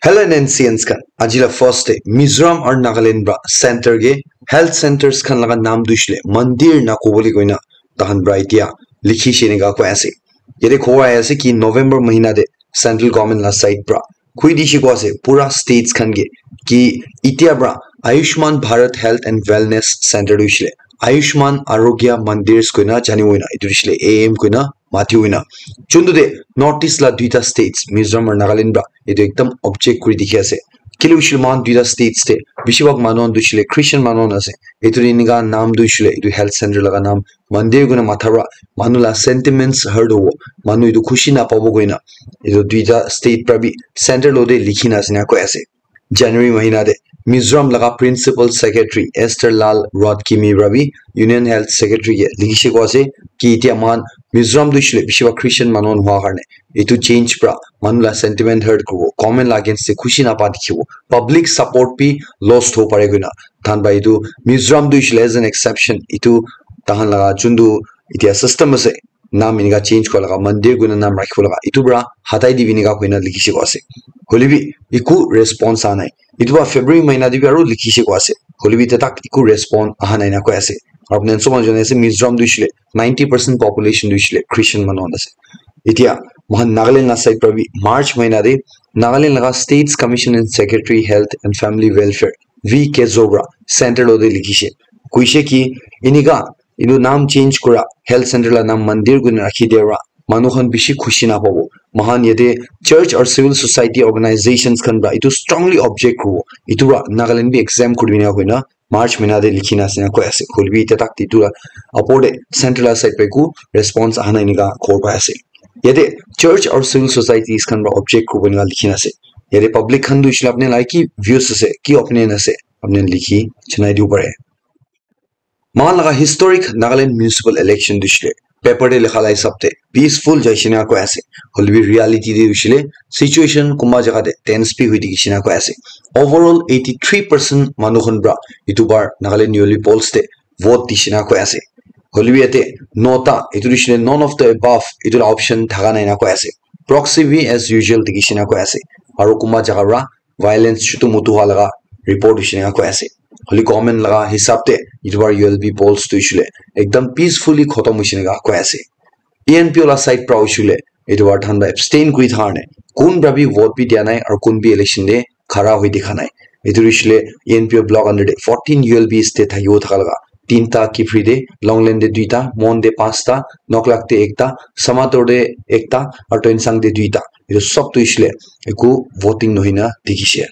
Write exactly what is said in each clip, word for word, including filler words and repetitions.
Hello N C Ns khan, aji la first day Mizoram aru Nagaland pra center ke health centers khan laga naam tu hoishe le mandir na kobole koina tahan pra etia likhishe enika koi ase. Yate khobor ahi ase ki November mahina te central government la side pra koi dishe koi ase pura states khan ke ki etia pra Ayushman Bharat Health and Wellness Center tu hoishe le Ayushman Arogya Mandirs koina jani hoina etu hoishe le A M koina mati hoina. Chuntu de North East la duita states Mizoram aru Nagaland pra etu ekdam object kuri dikhi ase. Kile hoishe le moikhan duita states te bishi bhag manu khan tu hoishe le Christian manu khan ase. Etu de enika naam tu hoishe le etu health center laga naam mandir koina matha pra manu la sentiments hurt hobo, manu etu khushi napabo koina etu duita state pra bi center lo de likhi na ase na koi ase. January mahina te Mizoram laga Principal Secretary Esther Lal Ruatkimi pra bi Union Health Secretary ke likhishe koi ase ki etia moikhan Mizoram tu hoishe le bishi bhag Christian manu khan hua karne etu change pra manu la sentiment hurt kuribo, government la against te khushi napa dikhibo, public support bi lost hobo pare koina. Tahan pra etu Mizoram tu hoishe le as an exception etu tahan laga chuntu etia system ase naam enika change kura laga, mandir koina naam rakhibo laga, etu pra hatai dibi enika koina likhishe koi ase. Hoilebi eku response aha nai. Etu pra February mahina te bi aru likhishe koi ase. Hoilebi ete tak eku response aha nai na koi ase. Aru apni khan sob jane ase Mizoram tu hoishe le ninety percent population tu hoishe le Christian manu khan ase. Etia moikhan Nagaland la side pra bi March mahina te Nagaland laga States Commission and Secretary Health and Family Welfare V Kezo pra center lo de likhishe. Koishe ki enika etu naam change kura health center la naam mandir koina rakhi dia pra manu khan bishi khushi napabo. Moikhan yate church or civil society organizations khan pra etu strongly object kuribo. Etu pra Nagaland bi exempt kuri dina koina March mahina te likhi na ase na koi ase. Hoilebi etia tak etu la upor te center la side pra eku response aha nai enika khobor pai ase. Yate church or civil societies khan pra object kuribo enika likhi na ase. Yate public khan tu hoishe le apni la ki views ase, ki opinion ase, apni likhi janai dibo pare. Moikhan laga historic Nagaland municipal election tu hoishe le paper te likha la hisab te peaceful jaishe na koi ase. Hoilebi reality te hoishe le situation kunba jaga te tense bi hoi thakishe na koi ase. Overall eighty three percent manu khan pra etu bar Nagaland Yearly Polls te vote dishe na koi ase. Hoilebi yate nota, etu hoishe le none of the above, etu la option thaka nai na koi ase. Proxy bi as usual dikhishe na koi ase. Aru kunba jaga pra violence chutu mutu hua laga report hoishe enika koi ase. Hoile government laga hisab te etu bar U L B polls tu hoishe le ekdam peacefully khotom hoishe enika koi ase. E N P O la side pra hoishe le etu bar than pra abstain kuri thaka karne kun pra bi vote bi dia nai aru kun bi election te khara hoi dikha nai. Etu hoishe le E N P O block under te fourteen U L Bs te thakibo thaka laga tinta Kiphire te, Longlen te duita, Mon te panchta, Noklak te ekta, Samator te ekta, aru Tuensang te duita. Etu sob tu hoishe le eku voting nohoi na dikhishe.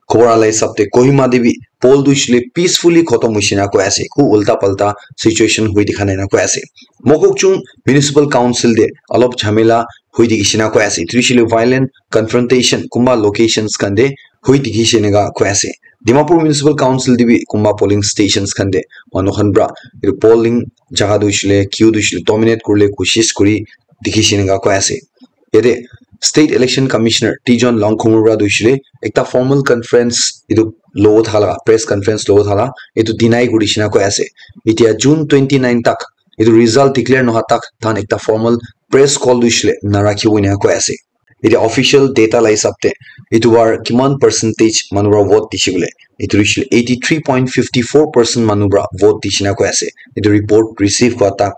Khobor ala hisab te Kohima te bi poll tu hoishe le peacefully khotom hoishe na koi ase. Eku ulta palta situation hoi dikha nai na koi ase. Mokokchung Municipal Council te alop jhamela hoi dikhishe na koi ase. Etu hoishe le violent confrontation kunba locations khan te hoi dikhishe enika koi ase. Dimapur Municipal Council te bi kunba polling stations khan te manu khan pra etu polling jaga tu hoishe le queue tu hoishe le dominate kuribole koshish kuri dikhishe enika koi ase. Yate State Election Commissioner Tijon Langkhumur pra tu hoishe le ekta formal conference etu lobo thaka laga, press conference lobo thaka laga etu deny kuri dishe enika koi ase. Etia June twenty nine tak etu result declare nohoi tak tahan ekta formal press call tu hoishe le narakhibo enika koi ase. Etia official data la hisab te etu bar kiman percentage manu pra vote dishe koile, etu hoishe le eighty three point fifty four percent manu pra vote dishe enika koi ase. Etu report receive kura tak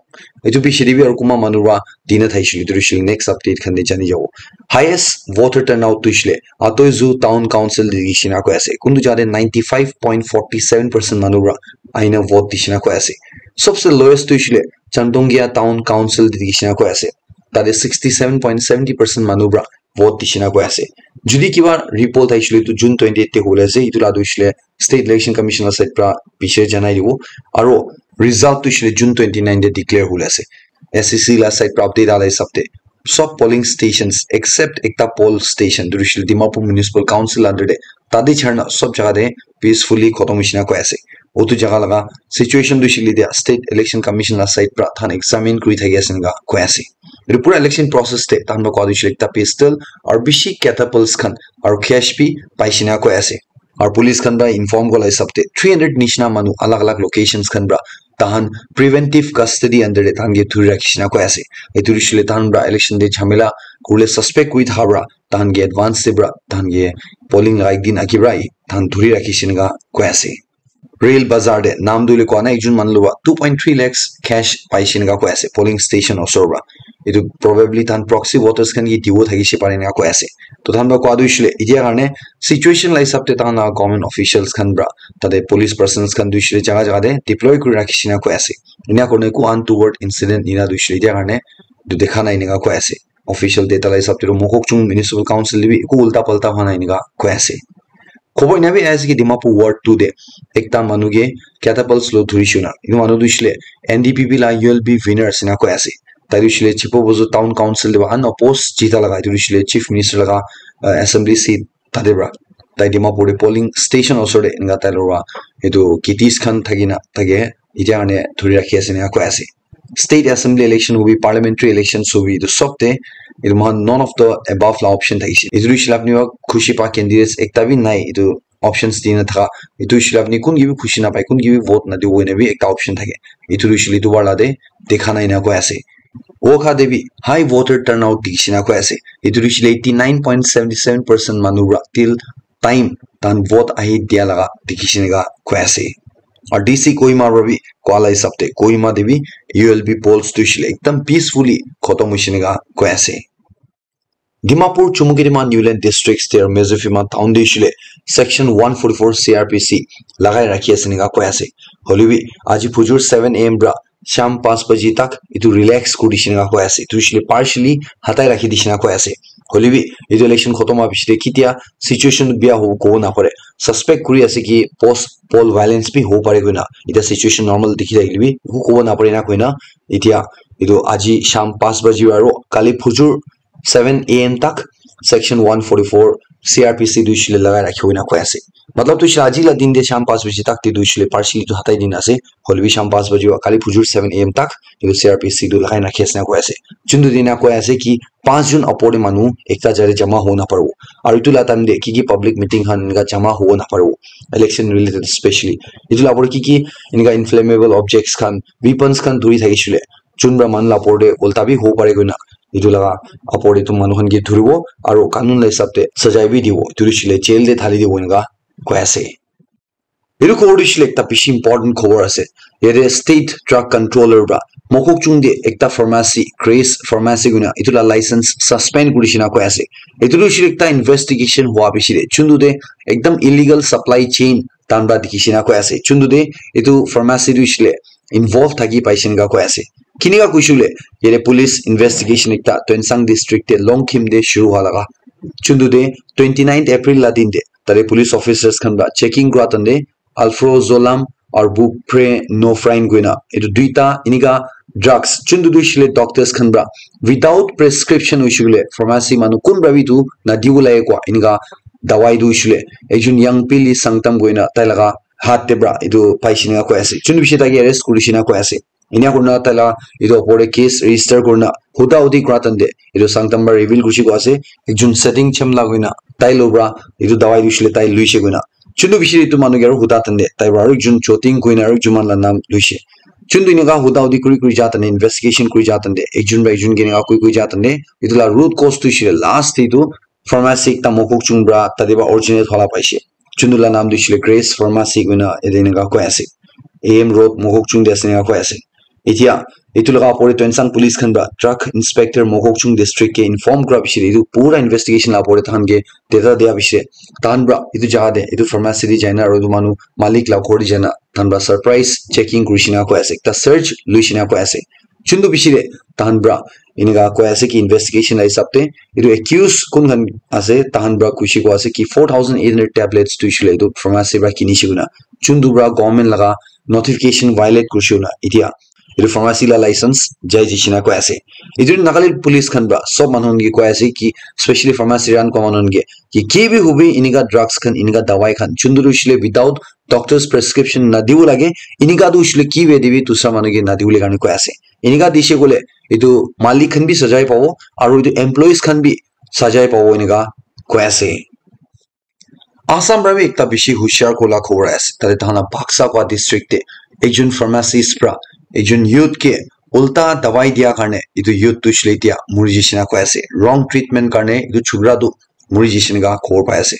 etu piche te bi aru kunba manu pra dina thakishe koile etu hoishe le next update khan te jani jabo. Highest voter turnout tu hoishe le Atoizu Town Council te dishe enika koi ase. Kuntu jaga te ninety five point forty seven percent manu pra ahina vote dishe enika koi ase. Sobse lowest tu hoishe le Chandongia Town Council te dishe enika koi ase. Tate sixty seven point seventy percent manu pra vote dishe enika koi ase. Jodi kiba report ahishele etu June twenty eight te hobole ase, etu la tu hoishe le State Election Commission la side pra piche janai dibo. Aro result tu hoishe le June twenty nine te declare hobole ase. S E C la side pra update ala hisab te sob polling stations except ekta poll station tu hoishe le Dimapur Municipal Council under te, tate chharna sob jaga te peacefully khotom hoishe enika koi ase. Utu jaga laga situation tu hoishe le dia State Election Commission la side pra than examine kuri thaki ase enika koi ase. Etu pura election process te tahan pra koa tu hoishe le ekta pistol aru bishi catapults khan aru cash bi paishe enika koi ase. Aru police khan pra inform kura la hisab te three hundred nishina manu alag alag locations khan pra tahan preventive custody under te tahan ke thuri rakhi shina koi ase. Etu hoishe le tahan pra election te jhamela kurle suspect kuri thaka pra tahan ke advance te pra tahan ke polling laga ek din agi pra tahan thuri rakhi shina koi ase. Real Bazaar te naam tu le koa nai, ekjon manu lua two point three lakhs cash pai shina koi ase polling station osor pra. Etu probably tahan proxy voters khan ke dibo thakishe pare na koi ase. To tahan pra koa tu hoishe le etia karne situation la hisab te tahan la government officials khan pra tate police persons khan tu hoishe le jaga jaga te deploy kuri rakhi shina koi ase. Enia karne eku untoward incident nina tu hoishe le etia karne tu dekha nai enika koi ase. Official data la hisab te tu Mokokchung Municipal Council te bi eku ulta palta hua nai enika koi ase. Khobor ena bi ase ki Dimapur Ward two te ekta manu ke catapults lo dhuri shina. Etu manu tu hoishe le N D P P la U L B winner ase na koi ase. Tai tu hoishe le Chipobozo Town Council te ba unopposed jita laga etu hoishe le Chief Minister laga uh, assembly seat tate pra. Tai Dimapur te polling station osor te enka tai lora etu kitties khan thaki na thake etia karne dhuri rakhi ase na koi ase. State assembly election hobi, parliamentary elections hobi, etu sob te etu mohan none of the above la option thakishe. Etu hoishe le apni wa khushi pa candidates ekta bi nai etu options dina thaka. Etu hoishe le apni kun ke bi khushi napai, kun ke bi vote nadibo koina bi ekta option thake. Etu hoishe le etu wala te dekha nai na koi ase. Wokha te bi high voter turnout dikhi shina koi ase. Etu hoishe le eighty nine point seventy seven percent manu pra till time tahan vote ahi dia laga dikhi shina koi ase. Aru D C Kohima pra bi koa la hisab te Kohima te bi U L B polls tu hoishe le ekdam peacefully khotom hoishe enika koi ase. Dimapur, Chumukedima, Niuland districts te aru Mezophima town te hoishe le section one forty four C R P C lagai rakhi ase enika koi ase. Hoile bi aji phujur seven A M pra sham panch baji tak etu relax kuri dishina koi ase. Etu hoishe le partially hatai rakhi dishina koi ase. Hoile bi etu election khotom hwa piche te ketia situation bia hobo kobo napare. Suspect kuri ase ki post poll violence bi hobo pare koina. Eta situation normal dikhi thakile bi eku kobo napare na koina. Etia etu aji sham panch baji aru kali phujur seven A M tak section one forty four C R P C tu hoishe le lagai rakhibo ena koi ase. Matlab tu hoishe le aji la din te sham panch baji tak te tu hoishe le partially tu hatai dina ase. Hoile bi sham panch baji wa kali phujur seven A M tak etu C R P C tu lagai rakhi ase na koi ase. Chuntu dina koi ase ki panch jun upor te manu ekta jaga te jama hobo naparibo. Aru etu la time te ki ki public meeting khan enika jama hobo naparibo. Election related specially. Etu la upor te ki ki enika inflammable objects khan, weapons khan dhuri thakishe le. Chun pra manu la upor te ulta bi hobo pare koina etu laga upor te tu manu khan ke dhuribo aru kanun la hisab te sajai bi dibo, etu hoishe le jail te thali dibo enika koi ase. Etu khobor tu hoishe le ekta bishi important khobor ase. Yate state drug controller pra Mokokchung te ekta pharmacy, Grace Pharmacy koina etu la license suspend kuri dishina koi ase. Etu tu hoishe le ekta investigation hwa piche te chuntu te ekdam illegal supply chain tahan pra dikhi shina koi ase. Chuntu te etu pharmacy tu hoishe le involve thaki paise enika koi ase. Kinika koishe le yate police investigation ekta Tuensang district te Longkhim te shuru hwa laga. Chuntu te twenty ninth April la din te tate police officers khan pra checking kura time te alprazolam aru buprenorphine koina etu duita enika drugs chuntu tu hoishe le doctors khan pra without prescription hoishe le pharmacy manu kun pra bi etu nadibo lage koi enika dawai tu hoishe le ekjon young pili Sangtam koina tai laga hath te pra etu paise enika koi ase. Chuntu piche tai ke arrest kuri dishina koi ase. Enia kurina tai la etu opor te case register kurina huda hudi kura time te etu Sangtam pra reveal kurishe koi ase ekjon setting chemla koina tai lo pra etu dawai tu hoishe le tai loishe koina. Chuntu piche te etu manu ke aru huda time te tai pra aru ekjon Choting koina aru ekjon manu la naam loishe. Chuntu enika huda hudi kuri kuri ja time te investigation kuri ja time te ekjon pra ekjon ke enika koi koi ja time te etu la root cause tu hoishe le last te etu pharmacy ekta Mokokchung pra tate pra originate hwa la paishe. Chuntu la naam tu hoishe le Grace Pharmacy koina yate enika koi ase. A M Road Mokokchung te ase enika koi ase. Etia etu laga opor te Tuensang police khan pra drug inspector Mokokchung district ke inform kura piche te etu pura investigation la opor te tahan ke data dia piche te tahan pra etu jaga te etu pharmacy te jaina aru etu manu malik la ghor te jaina tahan pra surprise checking kuri dishina koi ase, ekta search loishe enika koi ase. Chuntu piche te tahan pra enika koi ase ki investigation la hisab te etu accused kun khan ase tahan pra koishe koi ase ki four thousand eight hundred tablets tu hoishe le etu pharmacy pra kinishe koina chuntu pra government laga notification violate kurishe koina etia etu pharmacy la license jai jai shina koi ase. Etu Nagaland police khan pra sob manu khan ke koi ase ki specially pharmacy run kura manu khan ke ki ki bi hobi enika drugs khan enika dawai khan chuntu tu hoishe le without doctor's prescription nadibo lage. Enika tu hoishe le ki be dibi dusra manu ke nadibo le karne koi ase. Enika dishe koile etu malik khan bi sajai pabo aru etu employees khan bi sajai pabo enika koi ase. Assam pra bi ekta bishi hushiar kola khobor ase. Tate tahan la Baksa koi district te ekjon pharmacist pra ekjon youth ke ulta dawai dia karne etu youth tu hoishe le etia muri jai shina koi ase. Wrong treatment karne etu chukra tu muri jai shina ka khobor pai ase.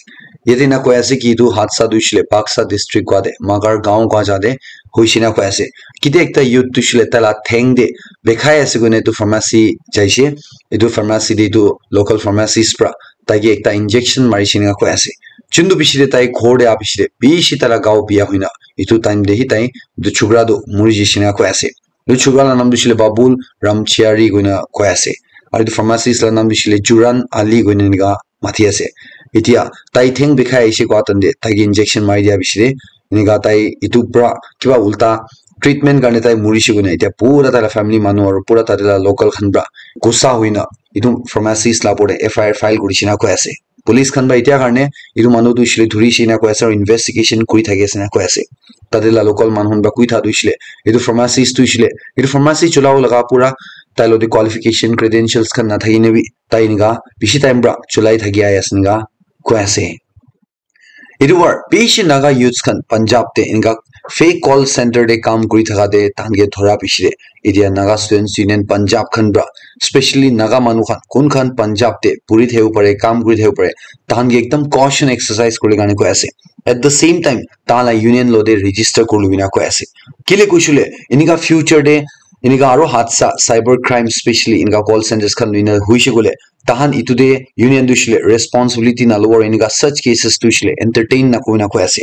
Yate na koi ase ki etu hadsa tu hoishe le Baksa district kua te Magar gaon kua ja te hoishe na koi ase. Kite ekta youth tu hoishe le taila theng te bekhai ase koine etu pharmacy jaise. Etu pharmacy te etu local pharmacist pra tai ke ekta injection mari shina koi ase. Chundu bishi te tai ghor te a bishi te bishi taila gao biya hoina etu time te hi tai etu chukra tu muri jai shina koi ase. Etu chukra la naam tu hoishe le Babul Ramchiari koina koi ase. Aru etu pharmacist la naam tu hoishe le Juran Ali koina enika mati ase. Etia tai theng bikhai ahishe koa time te tai ke injection mari dia bishi te enika tai etu pra kiba ulta treatment karne tai murishe koina etia pura taila family manu aru pura tate la local khan pra gussa hoina etu pharmacist la opor te F I R file kuri shina koi ase. Police khan pra etia karne etu manu tu hoishe le dhuri shina koi ase aru investigation kuri thaki ase na koi ase. Tate la local manu khan pra koi tha tu hoishe le etu pharmacist tu hoishe le etu pharmacy chulabo laga pura tai lo te qualification credentials khan na thaki ne bi tai enika bishi time pra chulai thaki ahi ase enika koi ase. Etu war bishi Naga youths khan Punjab te enika fake call center te kam kuri thaka te tahan ke dhora bishi te etia Naga Students Union Punjab khan pra specially Naga manu khan kun khan Punjab te puri thebo pare kam kuri thebo pare tahan ke ekdam caution exercise kuri karne koi ase. At the same time tahan la union lo te register kuri lubina koi ase. Kile kushule enika future te enika aro hadsa cyber crime specially enika call centers khan luina hoishe kole tahan etu te union tu hoishe le responsibility nalobo aru enika such cases tu hoishe le entertain nakuri na koi ase.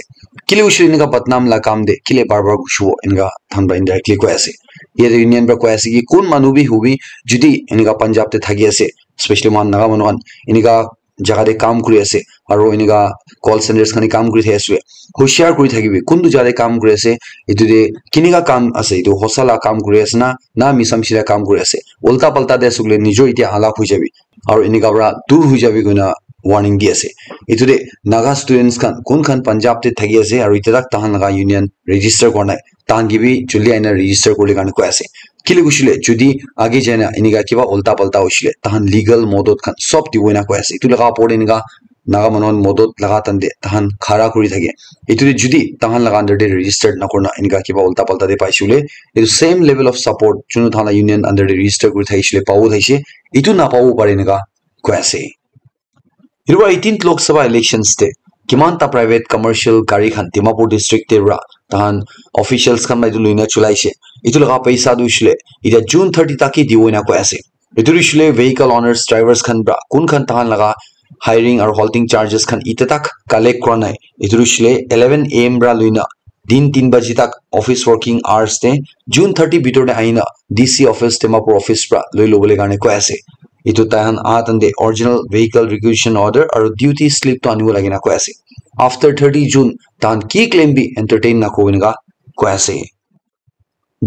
Kile hoishe le enika badnam la kam te kile bar bar gushibo enika tahan pra indirectly koi ase. Yate union pra koi ase ki kun manu bi hobi judi enika Punjab te thaki ase specially mohan Naga manu khan enika jaga te kam kuri ase aru enika call centers khan te kam kuri thaki ase hoishiar kuri thakibi kuntu jaga te kam kuri ase etu te kinika kam ase etu hosa la kam kuri ase na na misam sira kam kuri ase ulta palta te ase koile nijo etia halak hoi jabi aru enika pra dur hoi jabi koina warning di ase. Etu te Naga students khan kun khan Punjab te thaki ase aru etia tak tahan laga union register kora nai tahan ke bi juldi aina register kuri le karne koi ase. Kile kushile judi age jaina enika kiba ulta palta hoishile tahan legal modot khan sob dibo ena koi ase. Etu laga opor te enika Naga manu khan modot laga time te tahan khara kuri thake. Etu te judi tahan laga under te registered nakurina enika kiba ulta palta te paishe koile etu same level of support junu tahan la union under te register kuri thakishe koile pabo thakishe etu napabo pare enika koi ase. Etu para eighteenth Lok Sabha elections te kiman ta private commercial gari khan Dimapur district te para tahan officials khan la etu loina chulaishe. Etu laga paisa tu hoishe le etia June thirty tak ke dibo ena koi ase. Etu hoishe le vehicle owners, drivers khan para kun khan tahan laga hiring aru halting charges khan etia tak collect kura nai. Etu hoishe le eleven A M para loina din tin baji tak office working hours te June thirty bitor te ahina D C office Dimapur office para loi lobole karne koi ase. Etu tahan aha time te original vehicle requisition order aru duty slip tu anibo lage na koi ase. After thirty June tahan ki claim bi entertain nakuribo enika koi ase.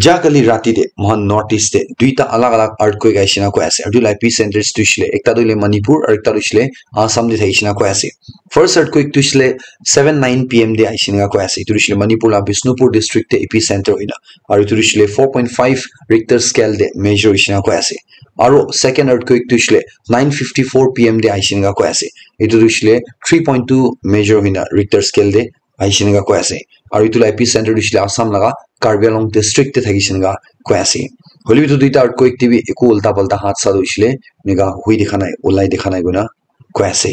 Ja kali rati te mohan North East te duita alag alag earthquake aishe na koi ase. Aru etu la epicenters tu hoishe le ekta tu hoile Manipur aru ekta tu hoishe le Assam te thaishe na koi ase. First earthquake tu hoishe le seven nine P M te aishe na koi ase. Etu hoishe le Manipur la Bishnupur district te epicenter hoina. Aru etu hoishe le four point five Richter scale te measure hoishe na koi ase. Aru second earthquake tu hoishe le nine fifty-four P M te aishe na koi ase. Etu tu hoishe le three point two measure hoina Richter scale te aishe enika koi ase. Aru etu la epicenter tu hoishe le Assam laga Karbi Anglong district te thakishe enika koi ase. Hoile bi etu duita earthquake te bi eku ulta palta hadsa tu hoishe le enika hui dikha nai, ulai dikha nai koina koi ase.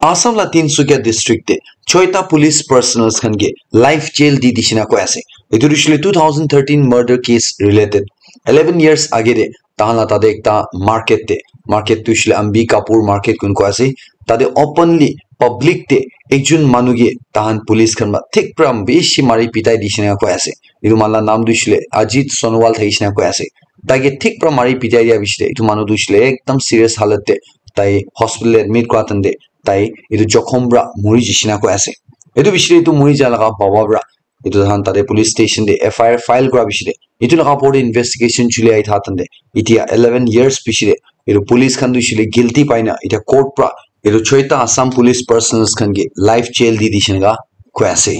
Assam la Tinsukia district te choita police personnels khan ke life jail di dishe na koi ase. Etu tu hoishe le two thousand thirteen murder case related eleven years age te tahan la tate ekta market te, market tu hoishe le Ambi Kapur market koina koi ase, tate openly public te ekjon manu ke tahan police khan para thik para bishi mari pitai dishe na koi ase. Etu manu la naam tu hoishe le Ajit Sonowal thakishe na koi ase. Tai ke thik para mari pitai dia bishi te etu manu tu hoishe le ekdam serious halat te tai hospital te admit kura time te tai etu jokhom para muri jishe na koi ase. Etu bishi te etu muri ja laga baba para etu tahan tate police station te F I R file kura bishi te etu laga opor te investigation chuli ahi tha time te etia eleven years bishi te etu police khan tu hoishe le guilty pai na etia court para etu choita Assam police personnels khan ke life jail di dishe enika koi ase.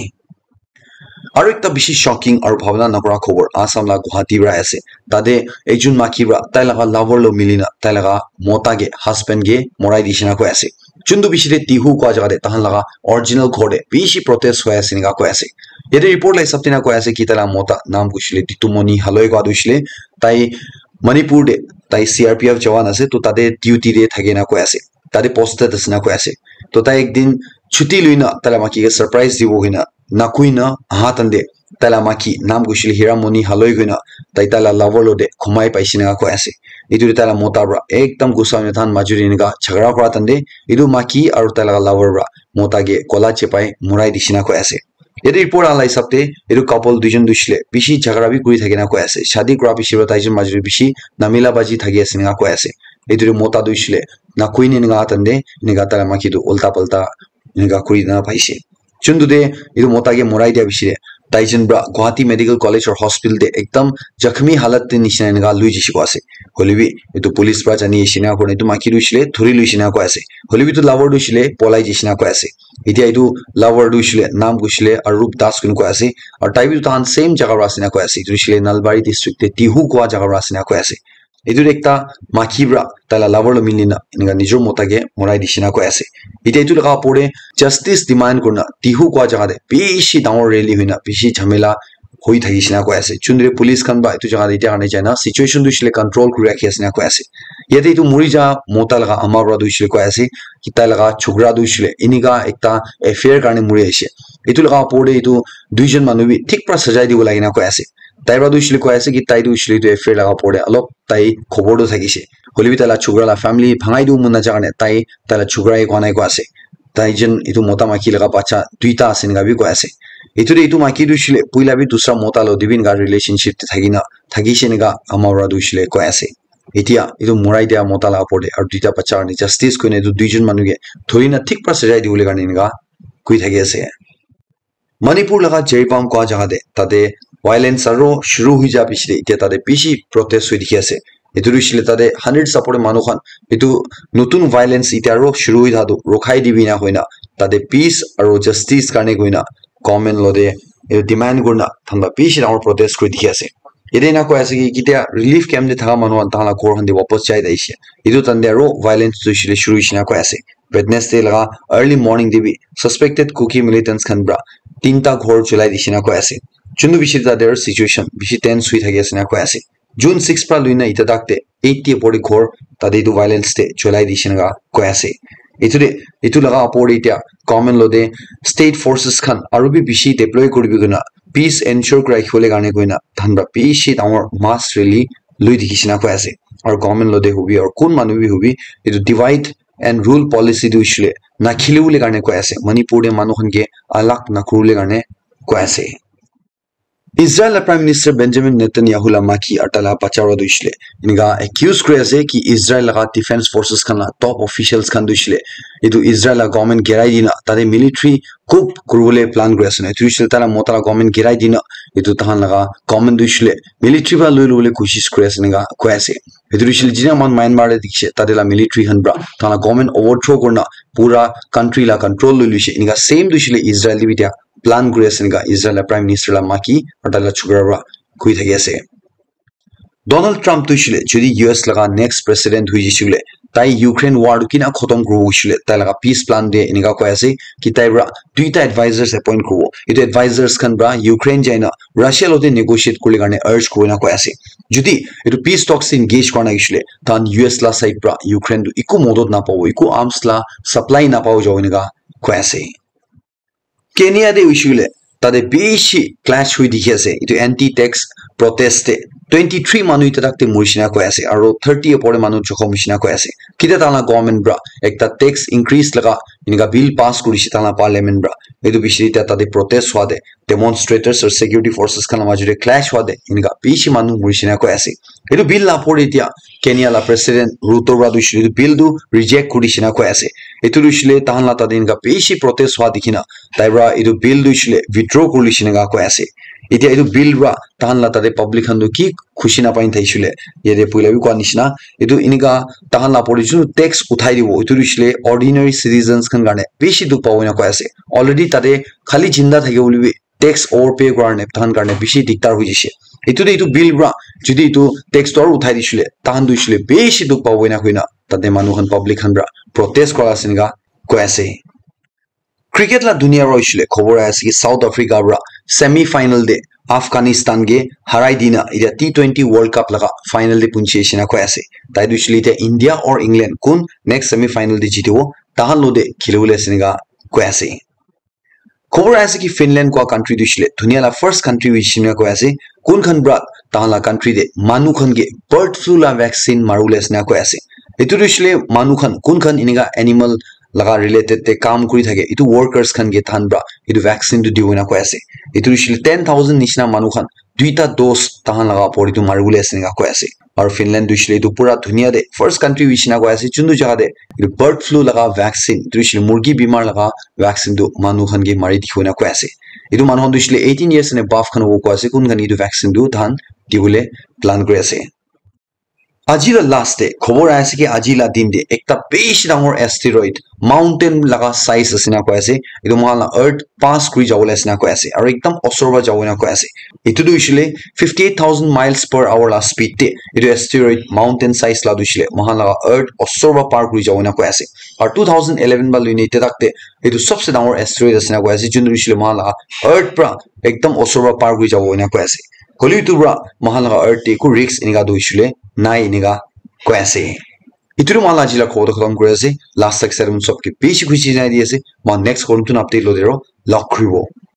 Aru ekta bishi shocking aru bhabna nakura khobor Assam la Guwahati para ase. Tate ekjon maki para tai laga lover lo milina tai laga mota ke, husband ke morai dishe na koi ase. Chundu bishi te Tihu kua jaga te tahan laga original ghor te bishi protest hoi ase enika koi ase. Yate report la hisab te na koi ase ki taila mota nam kushile Ditumoni Haloi kua tu shile tai Manipur te tai C R P F jawan ase to tate duty te thake na koi ase. Tate posted ase na koi ase. To tai ek din chuti lui na taila maki ke surprise dibo hoi na nakui na aha tande taila maki nam kushile Hiramoni Haloi koi na tai taila lover lo de khumai paise na koi ase. Etu te taila mota pra ekdam gusa hoi na than majuri enika jhagara kura tande etu maki aru taila lover pra mota ke kola chepai murai dishina koi ase. Yate report ala hisab te etu couple duijon tu shile bishi jhagara bi kuri thakina koi ase. Shadi kura bishi pra taijon majuri bishi namila baji thaki ase enika koi ase. Etu te mota tu shile nakui ni enika tande enika taila maki tu ulta palta enika kuri na paise. Chundu te etu mota ke morai dia bishi te taijon pra Guwahati Medical College or Hospital te ekdam zakhmi halat te nishina enika lui jishi koi ase. Hoilebi etu police pra jani ase enika kurina etu maki tu shile thuri lui ase enika koi ase. Hoilebi etu lover tu shile polai jishi enika koi ase. Etia etu lover tu shile nam kushile Arup Das koi koi ase. Aru tai bi tahan same jaga pra ase enika koi ase. Etu shile Nalbari district te Tihu kua jaga pra ase enika koi ase. Etu ekta maki pra taila lover lo mili na enika nijor mota ke morai dishi enika koi ase. Etia etu laga opor te justice demand kurina Tihu kua jaga te bishi dangor rally hoina bishi jhamela hoi thakishe na koi ase. Chundre police khan ba etu jaga te etia karne jai na situation tu shile control kuri rakhi ase na koi ase. Yate etu muri ja mota laga ama para tu shile koi ase ki tai laga chokra tu shile enika ekta affair karne muri ase. Etu laga opor te etu duijon manu bi thik para sajai dibo lage na koi ase. Tai para tu shile koi ase ki tai tu shile etu affair laga opor te alop tai khobor tu thakishe. Hoilebi tai la chokra la family bhangai dibo mon naja karne tai tai la chokra he koa nai koi ase. Tai jen etu mota maiki laga bacha duita ase enika bi koi ase. Etu te etu maiki tu shile puila bi dusra mota lo dibi enika relationship te thaki na thakishe enika ama para tu shile koi ase. Etia etu morai dia mota la opor te aru duita bacha karne justice koina etu duijon manu ke thori na thik para sajai dibole karne enika koi thaki ase. Manipur laga Jiribam kua jaga te tate violence aro shuru hoi ja piche te etia tate bishi protest hoi dikhi ase. Etu tu hoishe le tate hundred support manu khan etu notun violence etia aro shuru hoi thaka tu rokhai dibi na koina tate peace aro justice karne koina government lo te etu demand kurina than para bishi dangor protest kuri dikhi ase. Yate ena koi ase ki ketia relief camp te thaka manu khan tahan la ghor khan te wapas jai ahishe. Etu time te aro violence tu hoishe le shuru hoishe na koi ase. Wednesday laga early morning te bi suspected Kuki militants khan para tinta ghor cholai dishe na koi ase. Chundu bishi tate aro situation bishi tense hoi thaki ase na koi ase. June six para lui na eta tak te eighty opor te ghor tate etu violence te cholai dishe na koi ase. Etu te etu laga opor te etia government lo te state forces khan aru bi bishi deploy kuri bi koina peace ensure kuri rakhi bole karne koina than para bishi dangor mass rally lui dikhi shina koi ase. Aru government lo te hobi aru kun manu bi hobi etu divide and rule policy tu hoishe le na khili bole karne koi ase. Manipur te manu khan ke alag na kuri bole karne koi ase. Israel la Prime Minister Benjamin Netanyahu la maki aru tai la bacha para tu hoishe le enika accuse kuri ase ki Israel laga defense forces khan la top officials khan tu hoishe le etu Israel la government girai dina tate military coup kuri bole plan kuri ase na. Etu hoishe le tai la mota la government girai dina etu tahan laga government tu hoishe le military para lui lobole koshish kuri ase enika koi ase. Etu tu hoishe le jina moikhan Myanmar te dikhi se tate la military khan para tahan la government overthrow kurina pura country la control lui luishe enika same tu hoishe le Israel te bi etia plan kuri ase enika Israel la Prime Minister la maki aru tai la chokra para koi thaki ase. Donald Trump tu hoishe le jodi U S laga next president hoi jai she le tai Ukraine war tu kina khotom kuribo hoishe le tai laga peace plan te enika koi ase ki tai para duita advisors appoint kuribo. Etu advisors khan para Ukraine jai na Russia lo te negotiate kuri bole karne urge kuribo na koi ase. Jodi etu peace talks te engage kura nai hoishe le tahan U S la side para Ukraine tu eku modot na pabo, eku arms la supply na pabo jabo enika koi ase. Kenya te hoishe le tate bishi clash hoi dikhi ase. Etu anti tax protest te twenty three manu eta tak te muri shina koi ase aru thirty opor te manu jokhom hoi shina koi ase. Ketia tahan la government para ekta tax increase laga enika bill pass kuri she tahan la parliament para etu bishi eta tate protest hwa te demonstrators aru security forces khan la majo te clash hwa te enika bishi manu muri shina koi ase. Etu bill la opor te etia Kenya la president Ruto para tu hoishe le etu bill tu reject kuri dishina koi ase. Etu tu hoishe le tahan la tate enika bishi protest hwa dikhi na tai para etu bill tu hoishe le withdraw kuri dishina enika koi ase. Etia etu bill para tahan la tate public khan tu ki khushi na pai thakishe le yate puila bi koi nishina etu enika tahan la opor te jun tax uthai dibo etu tu hoishe le ordinary citizens khan karne bishi dukh pabo enika koi ase. Already tate khali jinda thaki bole bi tax overpay kura karne tahan karne bishi diktar hoi jaise. Etu te etu bill para jodi etu tax tu aru uthai dishe le tahan tu hoishe le bishi dukh pabo enika koina tate manu khan public khan para protest kura ase enika koi ase. Cricket la dunia ra hoishile khobor ahi ase ki South Africa pra semi final te Afghanistan ke harai dina etia T twenty World Cup laga final te punchi ase na koi ase. Tai tu hoishile etia India or England kun next semi final te jitibo tahan lo te khilibole ase enika koi ase. Khobor ahi ase ki Finland kua country tu hoishile dunia la first country hoishina koi ase kun khan pra tahan la country te manu khan ke bird flu la vaccine maribole ase na koi ase. Etu tu hoishile manu khan kun khan enika animal laga related te kam kuri thake etu workers khan ke tahan pra etu vaccine tu dibo na koi ase. Etu hoishile ten thousand nishina manu khan duita dose tahan laga opor te tu maribole ase enika koi ase. Aru Finland tu hoishile etu pura dunia te first country hoishina koi ase juntu jaga te etu bird flu laga vaccine etu hoishile murgi bimar laga vaccine tu manu khan ke mari dikhibo na koi ase. Etu manu khan tu hoishile eighteen years and above khan hobo koi ase kun khan etu vaccine tu tahan dibole plan kuri ase. Aji la last te khobor ahi ase ki aji la din te ekta bishi dangor asteroid mountain laga size ase na koi ase. Etu moikhan la earth pass kuri jabo le ase na koi ase aru ekdam osor para jabo na koi ase. Etu tu hoishile fifty eight thousand miles per hour la speed te etu asteroid mountain size la tu hoishile moikhan laga earth osor para par kuri jabo na koi ase. Aru two thousand eleven ba loine etia tak te etu sabse dangor asteroid ase na koi ase juntu hoishile moikhan laga earth para ekdam osor para par kuri jabo na koi ase. Hoile etu para moikhan laga earth te eku risk enika tu hoishile nai enika koi ase. Etu tu moikhan la aji la khobor tu khatam kuri ase. Last tak sarum sob ke bishi khushi janai di ase. Moikhan next khobor tu update lo dero log kuribo.